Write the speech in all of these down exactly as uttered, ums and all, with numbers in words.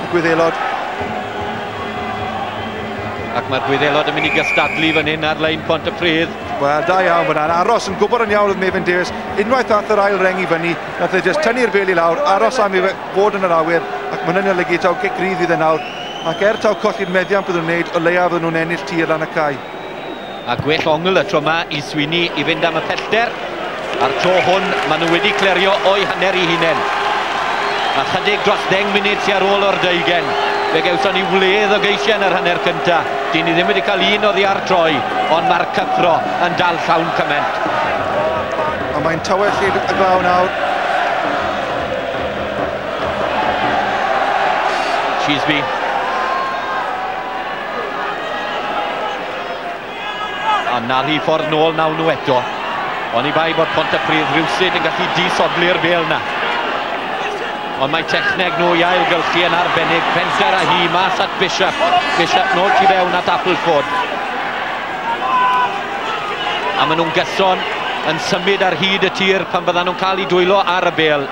y Gwyddelod. Ac mae'r Gwyddelod yn mynd i gystadlu fan hyn ar lein Pontypridd. Wel, da iawn fyna. Aros yn gwybod yn iawn oedd Mefin Davies. Unwaith ath yr ail reng i fyny, nath e jyst tynnu'r bêl i lawr, aros am i fod yn yr awyr, ac mae hynny'n olygu taw gic rydd fydd e nawr. Ac er taw colli'r meddiant byddwn nhw'n wneud, o leia fydden nhw'n ennill tir lan y cae. A gwell ongl y tro yma i Sweeney i fynd am y pellter. A'r tro hwn, maen nhw wedi clirio o'i hanner i hunain. A chydig dros ddeng munud sy ar ôl o'r deugen. Fe gawson ni wledd o geisiau yn yr hanner cynta. Dyn ni ddim wedi cael un oddi ar troi, ond mae'r cyffro yn dal llawn cyment. A mae'n tawell y glaw nawr. Cheeseby. A na'r ffordd nôl nawn nhw eto. Oni bai bod Pontypridd rhywsut yn gallu disodli'r bêl na. Ond mae techneg nhw i ailgylchu yn arbennig. Fenter a hi mas at Bishop. Bishop nôl tu fewn at Appleford. A maen nhw'n gyson yn symud ar hyd y tir pan fyddan nhw'n cael eu dwylo ar y bêl.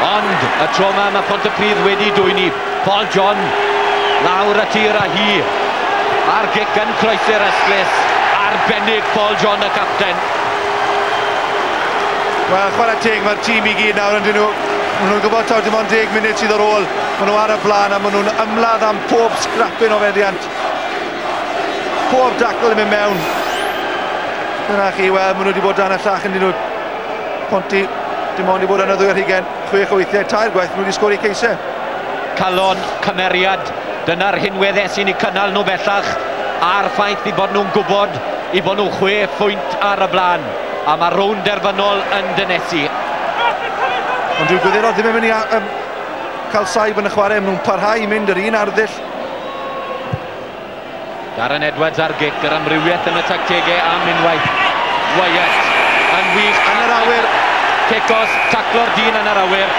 Ond y tro yma mae Pontypridd wedi dwyni. Paul John lawr y tir a hi. A'r gic yn croesi'r ystlys. Arbennig Paul John y capten. Wel, chwarae teg, mae'r tîm i gyd nawr yn dyn nhw. Maen nhw'n gwybod taw dim ond deg munud sydd ar ôl. Maen nhw ar y blaen a maen nhw'n ymladd am pob scrapyn o feddiant. Pob dacl yn mynd mewn. Dyna chi, wel, maen nhw wedi bod dan y llach yn dyn nhw. Ponty, dim ond i bod yn y ddwy ar hugain, chwech o weithiau, tair gwaith, maen nhw wedi sgori ceisiau. Calon, cymeriad, dyna'r rhinweddau sy'n eu cynnal nhw bellach, a'r ffaith i bod nhw'n gwybod i bod nhw chwe phwynt ar y blaen. A mae rownd derfynol yn dynesu. Ond dyw'r Gwyddelod ddim yn mynd i um, cael saib yn y chwarae, maen nhw'n parhau i mynd yr un arddull. Darren Edwards ar gic, yr amrywiaeth yn y tactegau am unwaith. Wyatt yn wych. Yn yr awyr. Cicos, taclo'r dyn yn yr awyr.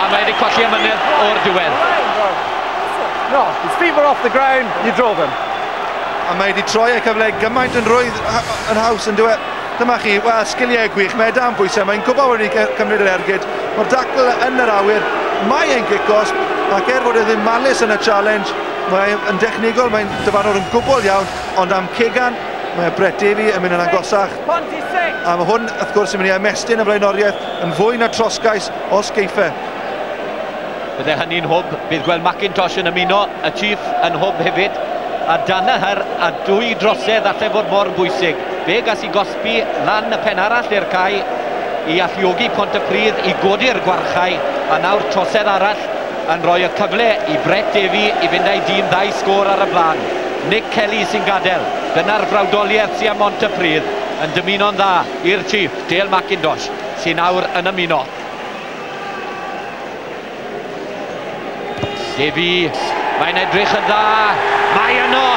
A mae wedi colli amynedd o'r diwedd. No, his feet were off the ground, you drove him. A mae wedi troi y cyfle gymaint yn rwydd yn haws yn diwedd. Dyma chi, wel, sgiliau gwych, mae e dan bwysau, mae'n gwybod wedi cymryd yr ergyd. Mae'r dacl yn yr awyr, mae e'n gic gosb, ac er fod e ddim malus yn y challenge, mae'n dechnegol, mae'n dyfarnwr yn gwbl iawn, ond am Cegan, mae Brett Davey yn mynd yn agosach. A mae hwn, wrth gwrs, yn mynd i ymestyn y blaenoriaeth yn fwy na trosgais os geiff e. Bydde hynny'n hwb, bydd gweld McIntosh yn ymuno, y Chief yn hwb hefyd. A Danaher a dwy drosedd allai fod mor bwysig. Fe gas i gosbi lan y pen arall i'r cae i alluogi Pontypridd i godi'r gwarchau, a nawr trosedd arall yn rhoi y cyfle i Brett Davey i fynd â'i dîm ddau sgôr ar y blaen. Nick Kelly sy'n gadael. Dyna'r frawdoliaeth sy'n am Pontypridd yn dymuno'n dda i'r Chief, Dale McIntosh, sy'n nawr yn ymuno. Davey, mae'n edrych yn dda, mae yno!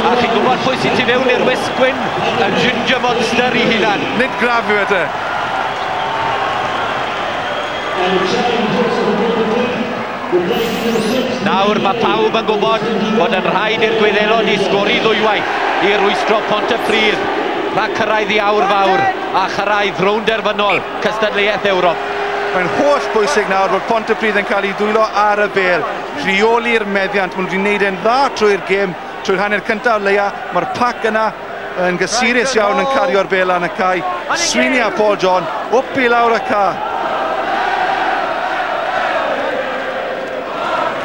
A chi'n gwybod pwy sy'n tu fewn i'r wisg gwyn? Y Ginger Monster i hunan. Nid graf yw e te. Nawr mae pawb yn gwybod bod yn rhaid i'r Gwyddelod i sgori ddwywaith i rwystro Pontypridd rhag cyrraedd i awr fawr a chyrraedd rownd derfynol cystadleuaeth Ewrop. Mae'n holl bwysig nawr bod Pontypridd yn cael ei ddwylo ar y bêl, rheoli'r meddiant. Maen nhw wedi gwneud e'n dda trwy'r gêm, trwy'r hanner cyntaf o leia. Mae'r pac yna yn gysurus iawn yn cario'r bêl lan y cae. Sweeney a Paul John, wp i lawr y ca.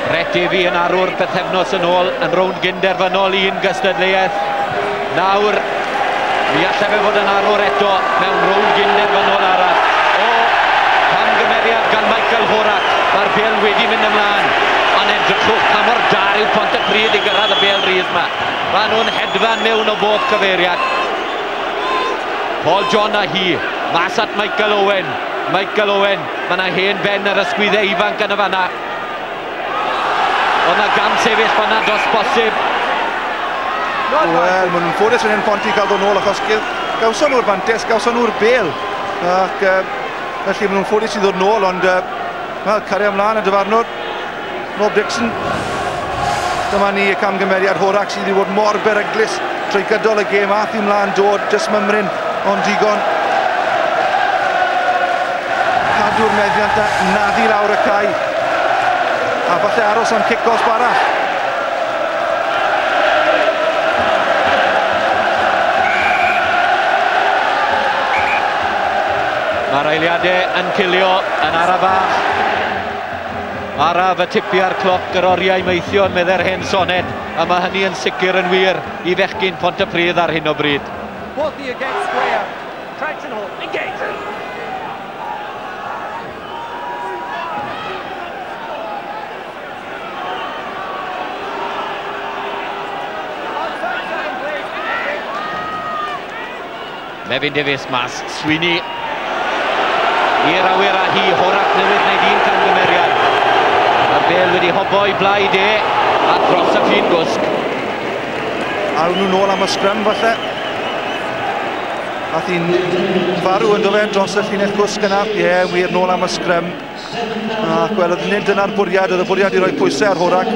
Brett Davey yn arwr bythefnos yn ôl yn rownd gynderfynol un gystadleuaeth. Nawr, mi allai fe fod yn arwr eto mewn rownd gynderfynol arall. O, camgymeriad gan Michael Horak. Mae'r bêl wedi mynd ymlaen. Ond edrychwch pa mor da yw Pontypridd i gyrraedd y bêl rydd yma. Maen nhw'n hedfan mewn o bob cyfeiriad. Paul John a hi, mas at Michael Owen. Michael Owen, mae yna hen ben ar ysgwyddau ifanc yn y fanna. Oedd yna gam sefyll fanna dros bosib. Wel, maen nhw'n ffodus fan hyn Ponty cael dod nôl achos gawson nhw'r fantes, gawson nhw'r bêl. Ac uh, felly maen nhw'n ffodus i ddod nôl, ond uh, wel, cario ymlaen y dyfarnwr, Rob Dixon. Dyma ni y camgymeriad. Horak sydd wedi bod mor beryglus trwy gydol y gêm. Ath i mlaen dod, jyst mymryn, ond digon. Cadw'r meddiant na, naddu lawr y cae. A falle aros am cic gosb arall. Mae'r eiliadau yn cilio yn arafach. Araf y tipia'r cloc yr oriau meithion, meddai'r hen soned, a mae hynny yn sicr yn wir i fechgyn Pontypridd ar hyn o bryd. Worthy against square. Traction hold. Engage. Mefin Davies mas, Sweeney i'r awyr a hi. Horak newydd wneud un camgymeriad. Mae'r bel wedi hobo i blaid e a dros y ffin gwsg. Awn nhw nôl am y sgrym falle. Ath hi'n farw yn do fe dros y llinell gwsg yna. Ie, yeah, wir, nôl am y sgrym. Ac wel, oedd nid dyna'r bwriad, oedd y bwriad i roi pwysau ar Horak.